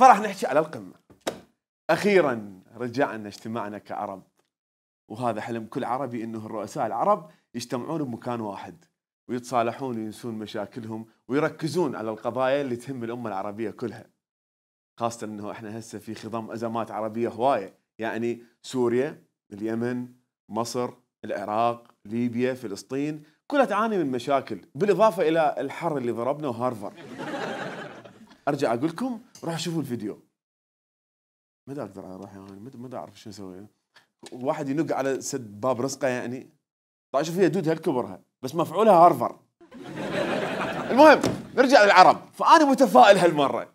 فراح نحكي على القمة. أخيرا رجعنا اجتماعنا كعرب، وهذا حلم كل عربي، إنه الرؤساء العرب يجتمعون بمكان واحد ويتصالحون وينسون مشاكلهم ويركزون على القضايا اللي تهم الأمة العربية كلها، خاصة إنه إحنا هسه في خضم أزمات عربية هواية، يعني سوريا، اليمن، مصر، العراق، ليبيا، فلسطين، كلها تعاني من مشاكل، بالإضافة إلى الحر اللي ضربنا وهارفر. أرجع أقول لكم روحوا شوفوا الفيديو. ما أقدر أروح يعني، ما أعرف شو أسوي. واحد ينق على سد باب رزقه يعني. طيب شوف هي دود هالكبرها بس مفعولها هارفر. المهم نرجع للعرب، فأنا متفائل هالمرة.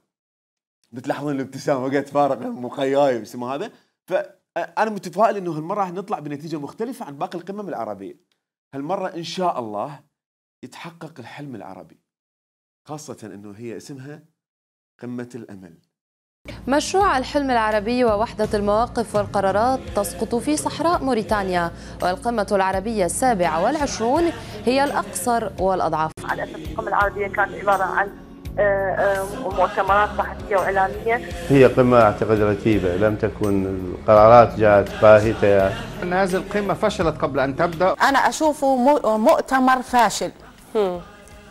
بتلاحظون الابتسامة وقت فارق مخياي اسمه هذا. فأنا متفائل إنه هالمرة راح نطلع بنتيجة مختلفة عن باقي القمم العربية. هالمرة إن شاء الله يتحقق الحلم العربي، خاصة إنه هي اسمها قمة الأمل. مشروع الحلم العربي ووحدة المواقف والقرارات تسقط في صحراء موريتانيا، والقمة العربية 27 هي الأقصر والأضعف. على أساس القمة العربية كانت عبارة عن مؤتمرات صحفية وإعلامية. هي قمة أعتقد رتيبة، لم تكن القرارات جاءت باهتة. أن هذه القمة فشلت قبل أن تبدأ. أنا أشوفه مؤتمر فاشل،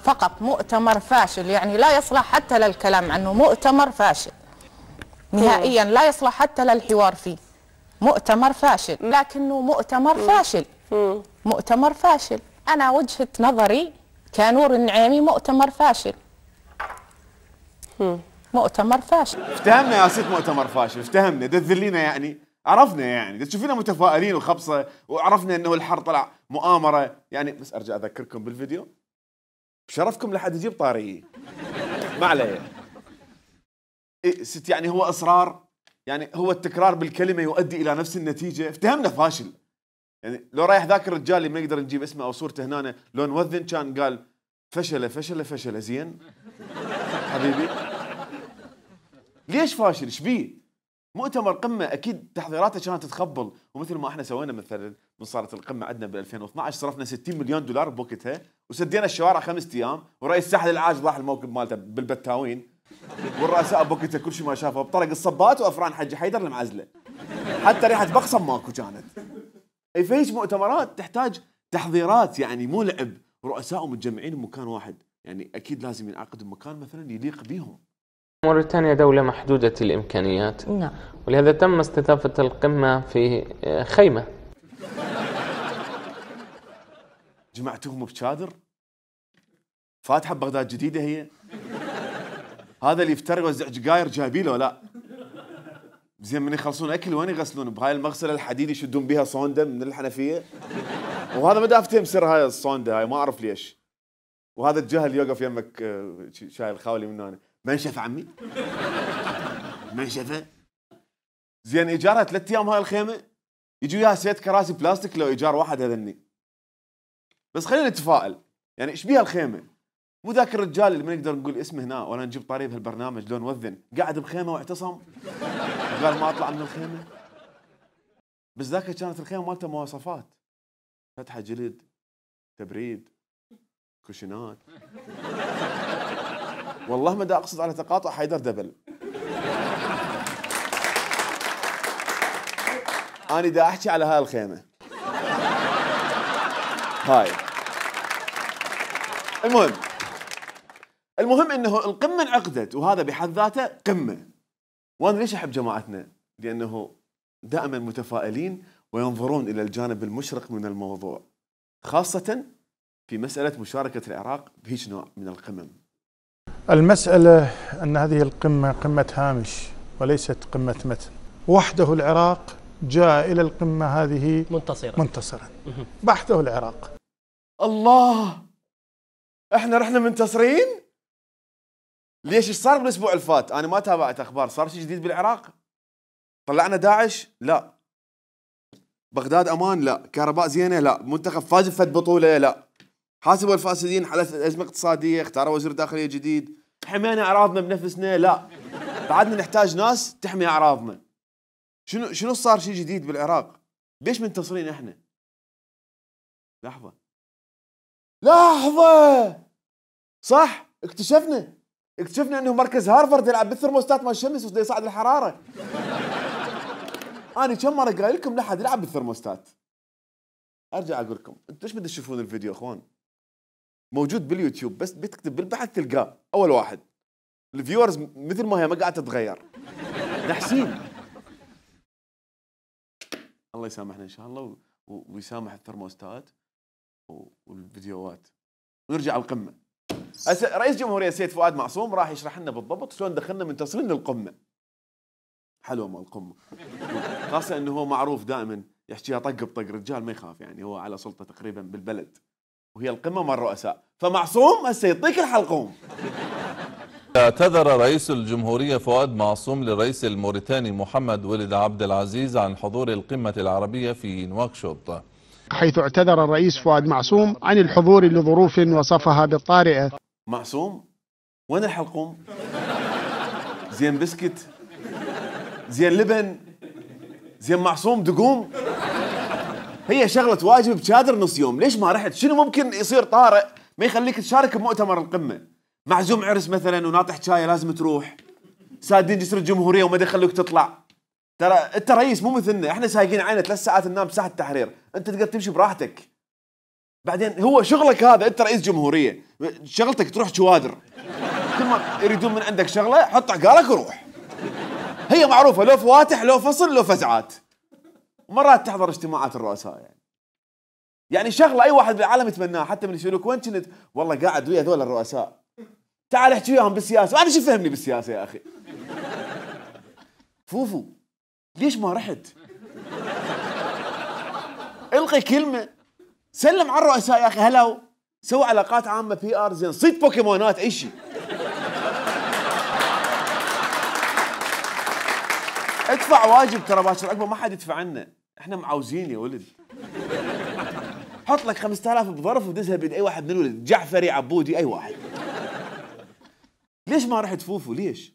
فقط مؤتمر فاشل، يعني لا يصلح حتى للكلام عنه، مؤتمر فاشل نهائيا، لا يصلح حتى للحوار فيه. مؤتمر فاشل، لكنه مؤتمر فاشل، مؤتمر فاشل. أنا وجهة نظري كنور النعيمي مؤتمر فاشل، مؤتمر فاشل. افتهمنا يا ست مؤتمر فاشل، افتهمنا، تذلينا يعني، عرفنا يعني، تشوفينا متفائلين وخبصة، وعرفنا انه الحر طلع مؤامرة يعني. بس ارجع اذكركم بالفيديو بشرفكم لحد يجيب طاريه. ما عليه. ست يعني هو اصرار، يعني هو التكرار بالكلمة يؤدي الى نفس النتيجة. افتهمنا فاشل. يعني لو رايح ذاك الرجال اللي ما نقدر نجيب اسمه او صورته هنا، لو نوذن كان قال فشل فشل فشل. زين حبيبي ليش فاشل؟ ايش بيه؟ مؤتمر قمه اكيد تحضيراته كانت تتخبل، ومثل ما احنا سوينا مثلا من صارت القمه عندنا ب 2012 صرفنا 60 مليون دولار بوقتها، وسدينا الشوارع 5 ايام، ورئيس الساحل العاج راح الموكب مالته بالبتاوين، والرؤساء بوقتها كل شيء ما شافه بطرق الصبات وافران حج حيدر المعزله، حتى ريحه بقصم ماكو كانت. اي فيش مؤتمرات تحتاج تحضيرات يعني، مو لعب. رؤساء متجمعين بمكان واحد، يعني اكيد لازم ينعقد بمكان مثلا يليق بيهم. موريتانيا دولة محدودة الإمكانيات، نعم، ولهذا تم استضافة القمة في خيمة. جمعتهم بشادر؟ فاتحة بغداد جديدة هي؟ هذا اللي يفتر يوزع جقاير جايبيله لا؟ زين من يخلصون أكل وين يغسلون؟ بهاي المغسلة الحديد يشدون بها صوندة من الحنفية؟ وهذا ما دافتهم سر هاي الصوندة هاي، ما أعرف ليش. وهذا الجهل يوقف يمك شايل خاولي من هنا. منشفة عمي؟ منشفة؟ زين إيجارها 3 أيام هاي الخيمة؟ يجوا وياها 6 كراسي بلاستيك لو إيجار واحد هذني. بس خلينا نتفائل، يعني إيش بيها الخيمة؟ مو ذاك الرجال اللي ما نقدر نقول اسمه هنا ولا نجيب طريق بهالبرنامج لو نوذن، قاعد بخيمة واعتصم قال ما أطلع من الخيمة. بس ذاك كانت الخيمة مالته مواصفات، فتحة جلد، تبريد، كوشنات. والله ما دا أقصد على تقاطع حيدر دبل. أنا دا أحكي على هاي الخيمة هاي. المهم إنه القمة انعقدت، وهذا بحد ذاته قمة. وأنا ليش أحب جماعتنا؟ لأنه دائما متفائلين وينظرون إلى الجانب المشرق من الموضوع، خاصة في مسألة مشاركة العراق بهيج نوع من القمم. المسألة أن هذه القمة قمة هامش وليست قمة متن. وحده العراق جاء إلى القمة هذه منتصرا. بحثه العراق. الله، احنا رحنا منتصرين؟ ليش؟ ايش صار بالاسبوع اللي فات؟ انا ما تابعت اخبار. صار شيء جديد بالعراق؟ طلعنا داعش؟ لا. بغداد امان؟ لا. كهرباء زينه؟ لا. منتخب فاز بفد بطوله؟ لا. حاسبوا الفاسدين، حلت ازمه اقتصاديه، اختاروا وزير داخليه جديد، حمينا اعراضنا بنفسنا؟ لا. بعدنا نحتاج ناس تحمي اعراضنا. شنو صار شيء جديد بالعراق؟ ليش منتصرين احنا؟ لحظه صح، اكتشفنا اكتشفنا انه مركز هارفرد يلعب بالثرموستات مال الشمس وده يصعد الحراره. انا كم مره قايل لكم لا حد يلعب بالثرموستات. ارجع اقول لكم انتم ايش بدكم تشوفون الفيديو اخوان؟ موجود باليوتيوب، بس بتكتب بالبحث تلقاه اول واحد. الفيورز مثل ما هي ما قاعده تتغير، نحسين. الله يسامحنا ان شاء الله ويسامح الثرموستات والفيديوهات. ونرجع القمه. رئيس جمهورية السيد فؤاد معصوم راح يشرح لنا بالضبط شلون دخلنا منتصرين للقمه. حلوه مال القمه، خاصه انه هو معروف دائما يحكيها طق بطق، رجال ما يخاف يعني، هو على سلطه تقريبا بالبلد وهي القمه مال الرؤساء، فمعصوم هسه يعطيك الحلقوم. اعتذر رئيس الجمهورية فؤاد معصوم للرئيس الموريتاني محمد ولد عبد العزيز عن حضور القمة العربية في نواكشوط، حيث اعتذر الرئيس فؤاد معصوم عن الحضور لظروف وصفها بالطارئة. معصوم وين الحلقوم؟ زين بسكت، زين لبن، زين معصوم دقوم. هي شغلة واجب بشادر نص يوم، ليش ما رحت؟ شنو ممكن يصير طارئ ما يخليك تشارك بمؤتمر القمة؟ معزوم عرس مثلا وناطح شاي لازم تروح، سادين جسر الجمهورية وما يخلوك تطلع. ترى انت رئيس مو مثلنا، احنا سايقين عينه 3 ساعات ننام بساحة التحرير، انت تقدر تمشي براحتك. بعدين هو شغلك هذا، انت رئيس جمهورية، شغلتك تروح شوادر، كل ما يريدون من عندك شغلة حط عقالك وروح. هي معروفة، لو فواتح لو فصل لو فزعات، ومرات تحضر اجتماعات الرؤساء يعني شغلة اي واحد بالعالم يتمناها، حتى من يسألوك وين كنت؟ والله قاعد ويا هذول الرؤساء. تعال احكي وياهم بالسياسة، وانا شو فهمني بالسياسة يا اخي؟ فوفو ليش ما رحت؟ القي كلمة، سلم على الرؤساء يا اخي، هلاو سوي علاقات عامة PR، زين صيد بوكيمونات اي شيء. ادفع واجب، ترى باشر اكبر ما حد يدفع عنا، احنا معاوزين يا ولد. حط لك 5000 بظرف ودزها بيد اي واحد من الولد، جعفري عبودي اي واحد. ليش ما رحت فوفو ليش؟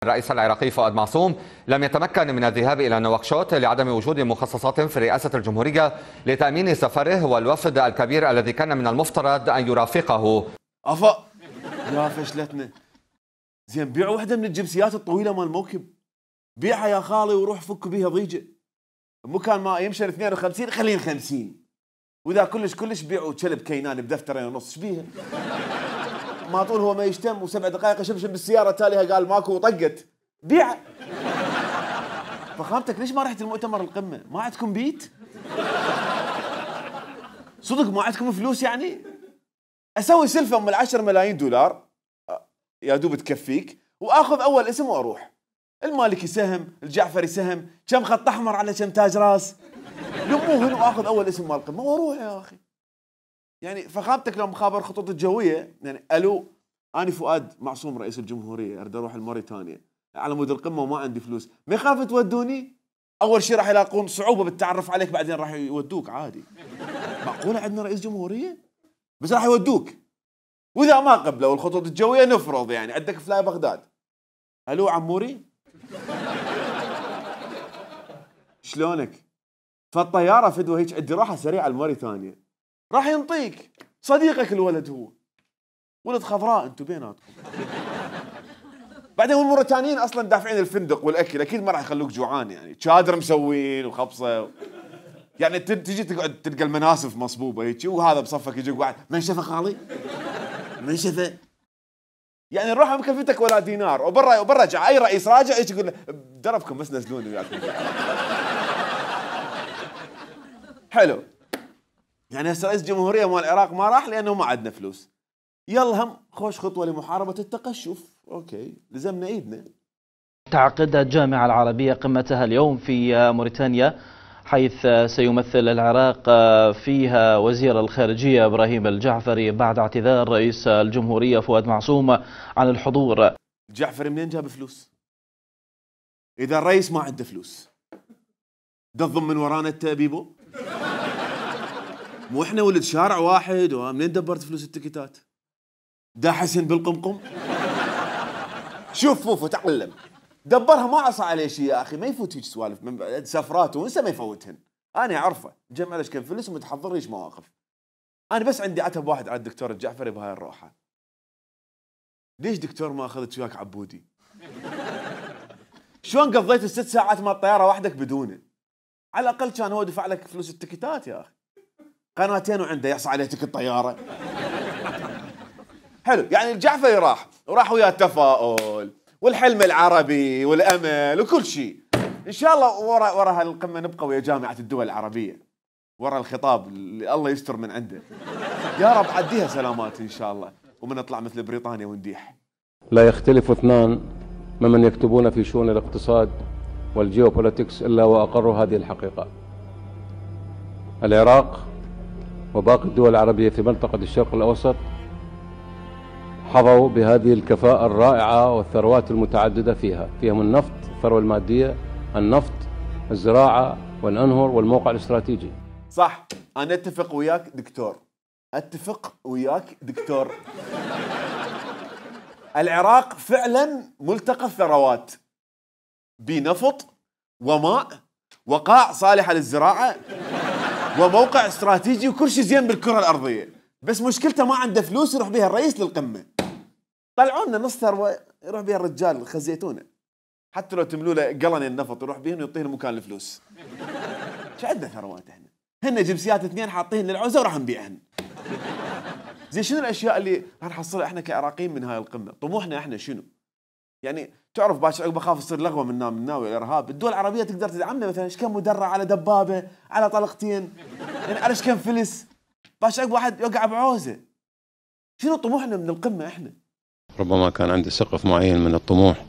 الرئيس العراقي فؤاد معصوم لم يتمكن من الذهاب إلى نواكشوط لعدم وجود مخصصات في رئاسة الجمهورية لتأمين سفره والوفد الكبير الذي كان من المفترض أن يرافقه. أفا يا فشلتنا. زين بيعوا وحدة من الجبسيات الطويلة مال الموكب، بيعها يا خالي وروح فك بيها ضيجة. مكان ما يمشي 52 خلين 50، وإذا كلش بيعوا كلب كينان بدفترين ونص شبيها. ما طول هو ما يشتم و7 دقائق يشبشب بالسيارة تاليها قال ماكو وطقت بيع. فخامتك ليش ما رحت المؤتمر القمة؟ ما عندكم بيت؟ صدق ما عندكم فلوس يعني؟ اسوي سلفة من 10 ملايين دولار يا دوب تكفيك، واخذ اول اسم واروح. المالكي سهم، الجعفري سهم، كم خط احمر على كم تاج راس، لموهن واخذ اول اسم مال القمة واروح يا اخي. يعني فخامتك لو مخابر الخطوط الجويه يعني الو انا فؤاد معصوم رئيس الجمهوريه اريد اروح الموريتانيا على مود القمه وما عندي فلوس، ما يخاف تودوني؟ اول شيء راح يلاقون صعوبه بالتعرف عليك، بعدين راح يودوك عادي. معقوله عندنا رئيس جمهوريه؟ بس راح يودوك، واذا ما قبلوا الخطوط الجويه نفرض يعني عندك فلاي بغداد. الو عموري شلونك؟ فالطياره فدوه هيك عندي راحه سريعه الموريتانيا، راح ينطيك صديقك الولد، هو ولد خضراء انتم بيناتكم. بعدين الموريتانيين اصلا دافعين الفندق والاكل، اكيد ما راح يخلوك جوعان يعني، شادر مسوين وخبصه يعني تجي تقعد تلقى المناسف مصبوبه هيك، وهذا بصفك يجي واحد منشفه خالي منشفه يعني نروح مكلفتك ولا دينار، وبرا رجع اي رئيس راجع ايش يقول له دربكم بس نزلوني وياكم. حلو يعني هسه رئيس جمهورية مال العراق ما راح لأنه ما عندنا فلوس، يلا هم خوش خطوة لمحاربة التقشف. أوكي لزمنا إيدنا. تعقد الجامعة العربية قمتها اليوم في موريتانيا، حيث سيمثل العراق فيها وزير الخارجية إبراهيم الجعفري بعد اعتذار رئيس الجمهورية فؤاد معصوم عن الحضور. الجعفري منين جاب فلوس؟ إذا الرئيس ما عنده فلوس تضم من ورانا التأبيبو؟ مو احنا ولد شارع واحد، ومنين دبرت فلوس التكتات؟ دا حسن بالقمقم؟ شوف فوفو تعلم دبرها، ما عصى عليه شيء يا اخي، ما يفوت هيك سوالف من سفرات وانسى ما يفوتهن. انا اعرفه جمع ليش كم فلوس ومتحضر ليش مواقف. انا بس عندي عتب واحد على الدكتور الجعفري بهاي الروحه، ليش دكتور ما اخذت وياك عبودي؟ شلون قضيت ال6 ساعات مال الطياره وحدك بدونه؟ على الاقل كان هو دفع لك فلوس التكتات يا اخي. قناتين وعنده يحصى عليه تكت طياره. حلو، يعني الجعفري وراح ويا التفاؤل والحلم العربي والامل وكل شيء. ان شاء الله ورا هالقمه نبقى ويا جامعه الدول العربية، ورا الخطاب اللي الله يستر من عنده. يا رب عديها سلامات ان شاء الله، ومن نطلع مثل بريطانيا ونديح. لا يختلف اثنان ممن يكتبون في شؤون الاقتصاد والجيوبوليتكس إلا وأقروا هذه الحقيقة. العراق وباقي الدول العربية في منطقة الشرق الأوسط حظوا بهذه الكفاءة الرائعة والثروات المتعددة فيهم النفط، الثروة المادية، النفط، الزراعة والأنهر والموقع الاستراتيجي. صح، أنا أتفق وياك دكتور. العراق فعلا ملتقى الثروات، بنفط وماء وقاع صالحة للزراعة وموقع استراتيجي وكل شيء زين بالكرة الأرضية. بس مشكلته ما عنده فلوس يروح بها الرئيس للقمة. طلعوا لنا نص ثروة يروح بها الرجال، خزيتونا. حتى لو تملوا له قلن النفط يروح بهم ويعطيهم مكان الفلوس. شو عندنا ثروات احنا؟ هن جنسيات 2 حاطين للعوزة وراح نبيعهن. زي شنو الاشياء اللي راح نحصلها احنا كعراقيين من هاي القمة؟ طموحنا احنا شنو؟ يعني تعرف باش عقب اخاف تصير لغوه من ناوي الارهاب، الدول العربيه تقدر تدعمنا مثلا ايش كم مدرع على دبابه على طلقتين، يعني على ايش كم فلس باش عقب واحد يوقع بعوزه. شنو طموحنا من القمه احنا؟ ربما كان عندي سقف معين من الطموح،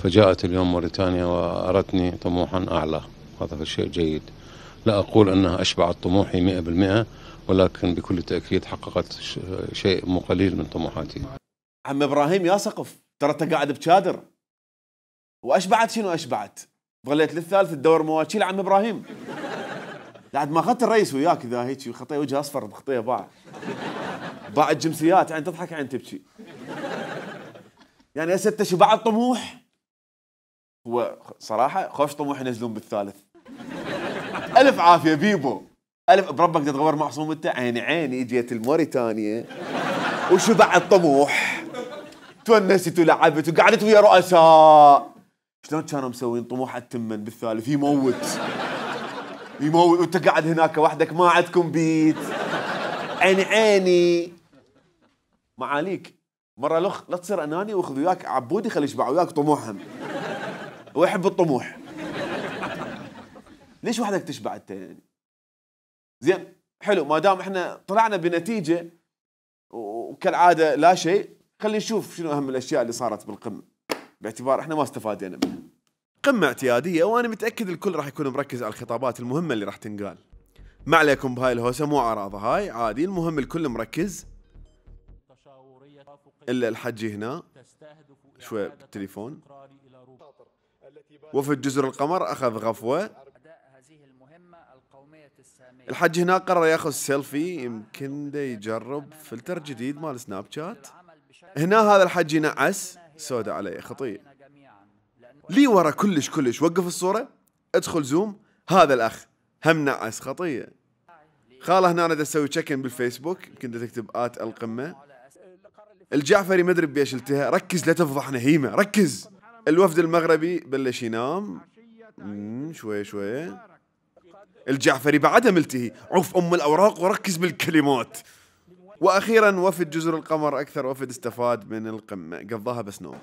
فجاءت اليوم موريتانيا وأرتني طموحا أعلى، هذا شيء جيد. لا أقول أنها أشبعت طموحي 100%، ولكن بكل تأكيد حققت شيء مو قليل من طموحاتي. عم إبراهيم يا سقف، ترى أنت قاعد بشادر. وأشبعت شنو أشبعت؟ ظليت للثالث تدور مواكيل عم إبراهيم. بعد ما أخذت الرئيس وياك ذا هيك خطيه وجه أصفر بخطيه باع الجنسيات، يعني تضحك عين تبكي. يعني هسه شبعت طموح. هو صراحة خوش طموح ينزلون بالثالث. ألف عافية بيبو، ألف بربك تتغور معصوم أنت. عيني اجيت الموريتانيا وشبعت طموح، تونست ولعبت وقعدت ويا رؤساء. شلون كانوا مسوين طموح التمن بالثالث؟ يموت وانت قاعد هناك وحدك ما عندكم بيت. عيني معاليك مرة لا تصير أناني واخذ وياك عبودي خلي يشبع وياك طموحهم. هو يحب الطموح. ليش وحدك تشبع انت يعني؟ زين حلو، ما دام احنا طلعنا بنتيجة وكالعادة لا شيء، خلينا نشوف شنو أهم الأشياء اللي صارت بالقمة، باعتبار احنا ما استفادنا منها. قمة اعتيادية، وأنا متأكد الكل راح يكون مركز على الخطابات المهمة اللي راح تنقال. ما عليكم بهاي الهوسة، مو عراضة هاي عادي، المهم الكل مركز إلا الحجي هنا شوي بالتليفون. وفد جزر القمر أخذ غفوة. الحج هنا قرر ياخذ سيلفي، يمكن دا يجرب فلتر جديد مال سناب شات. هنا هذا الحج ينعس، سودة عليه خطية. لي ورا كلش وقف الصورة، ادخل زوم، هذا الأخ هم نعس خطية. خاله هنا أنا دا اسوي تشيكن بالفيسبوك، يمكن دا تكتب القمة. الجعفري مدري بيش التها، ركز لا تفضحنا هيمة، ركز. الوفد المغربي بلش ينام شوي. الجعفري بعدها ملتهي، عوف أم الأوراق وركز بالكلمات. وأخيرا وفد جزر القمر، أكثر وفد استفاد من القمة، قضاها بس نوم.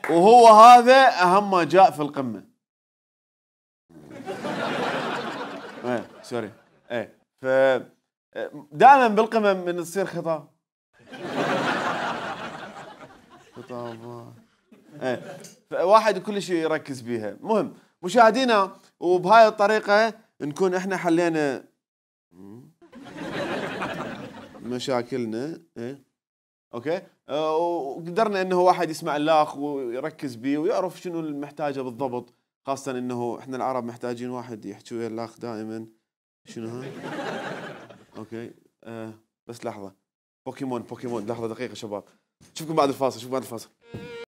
وهو هذا أهم ما جاء في القمة. سوري. ف دائما بالقمة من تصير خطابات. واحد كل شيء يركز بيها. مهم مشاهدينا، وبهاي الطريقة نكون احنا حلينا مشاكلنا. اوكي، وقدرنا انه واحد يسمع الاخ ويركز بيه ويعرف شنو المحتاجه بالضبط، خاصة انه احنا العرب محتاجين واحد يحكي ويا الاخ دائما. شنو هاي؟ اوكي بس لحظة، بوكيمون لحظة دقيقة شباب، شوفكم بعد الفاصل.